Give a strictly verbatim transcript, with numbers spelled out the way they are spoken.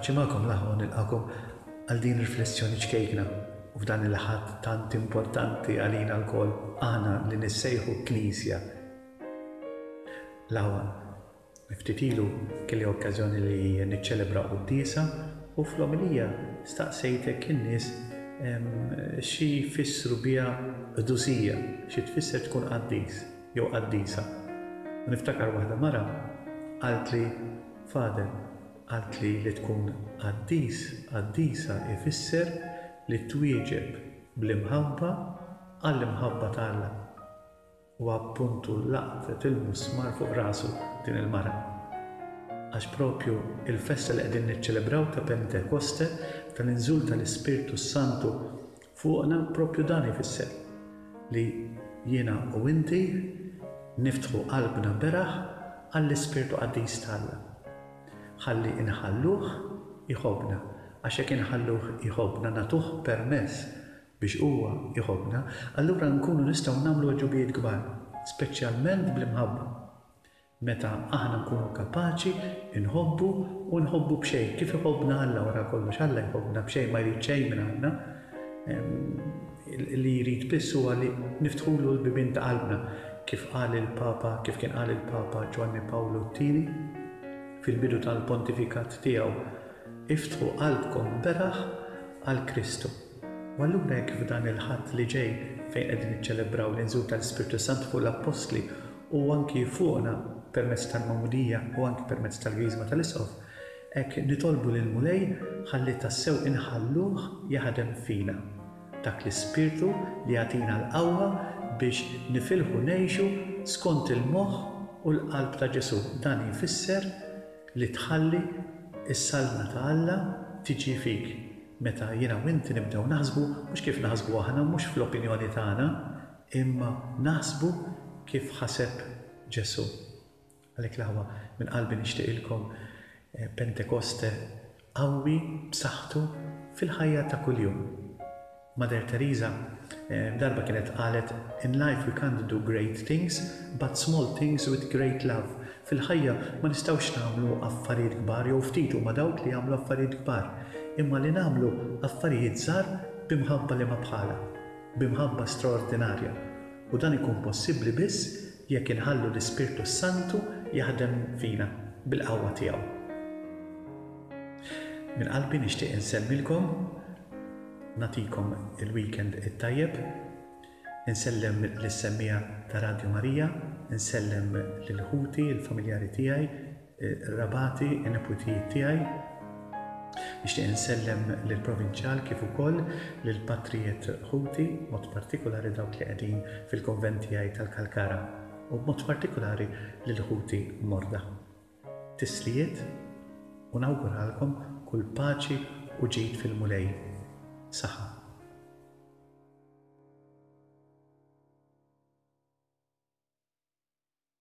Paċi magħkom l-aħwa nilqagħkom għal din riflessjoni ċkejkna u f'dan il-Ħadd tant importanti għalina lkoll aħna li nissejħu Knisja. L-aħwa, ftit ilu kelli okkażjoni li niċċelebra quddiesa u fl-omelija staqsejtek in-nies xi jfissru biha qdusija, xi tfisser tkun qaddis jew qaddisa. U niftakar waħda mara qaltli Father, qaltli li tkun qaddis, qaddisa ifisser li twieġeb bl-imħabba għall-imħabba ta' Alla. U appuntu laqtet il-musmar fuq rasu din il-mara. Għax propju il-festa li qegħdin niċċelebraw ta' Pentekoste, tal-inżul tal-Ispirtu Santu fuqna propju dan ifisser li jiena u inti niftħu qalbna beraħ għall-Ispirtu Qaddis t'Alla. Ħalli inħalluh iħobbna, għax jekk inħalluh iħobbna nagħtuh permess biex huwa iħobbna, allura nkunu nistgħu nagħmlu għeġubijiet kbar, speċjalment bl-imħabba. Meta aħna nkunu kapaċi nħobbu u nħobbu b'xejn, kif iħobbna Alla wara kollox, Alla jħobbna b'xejn ma jrid xejn minn għandna. Li jrid biss huwa li niftħulu l-bibien ta' qalbna, kif qal il-Papa, kif kien qal il-Papa Ġwanni Pawlu t-tieni fil-bidu tal-pontifikat tiegħu, iftħu qalbkom beraħ għal Kristu. U allura hekk f'dan il-Ħadd li ġej fejn qegħdin niċċelebraw l-inżul tal-Ispirtu Santu fuq l-Appostli u anki fuqna permezz tal-Magħmudija u anki permezz tal-Griżma tal-Isqof, hekk nitolbu lill-Mulej ħalli tassew inħalluh jaħdem fina. Dak l-Ispirtu li jagħtina l-qawwa biex nifilħu ngħixu skont il-moħħ u l-qalb ta' Ġesù. Dan jfisser li tħalli s-saltna ta' Alla tiġi fik. Meta jiena u inti nibdew naħsbu, mhux kif naħsbu aħna, mhux fl-opinjoni tagħna, imma naħsbu kif ħaseb Ġesù. Għalhekk l-aħwa minn qalbi nixtieqilkom Pentekoste qawwi b'saħħtu fil-ħajja ta' kuljum. Mother Teresa darba kienet qalet, in life we can't do great things, but small things with great love. Fil-ħajja ma nistgħux nagħmlu affarijiet kbar jew ftit huma dawk li jagħmlu affarijiet kbar, imma li nagħmlu affarijiet żgħar b'imħabba li ma bħala, b'imħabba straordinarja. U dan ikun possibbli biss jekk inħallu l-Ispirtu Santu jaħdem fina bil-qawwa tiegħu. Minn qalbi nixtieq insellmilkom, nagħtikom il-weekend it-tajjeb, insellem lis-semmiegħa ta' Radio Marija, insellem lil ħuti, il-familjari tiegħi, ir-rabati, in-neputijiet tiegħi. Nixtieq insellem lill-provinċjal kif ukoll lill-patrijiet ħuti, mod partikolari dawk li qegħdin fil-konvent tiegħi tal-Kalkara, u b'mod partikolari lil ħuti morda. Tislijiet u nawguralkom kull paċi u ġid fil-Mulej. Saħħa.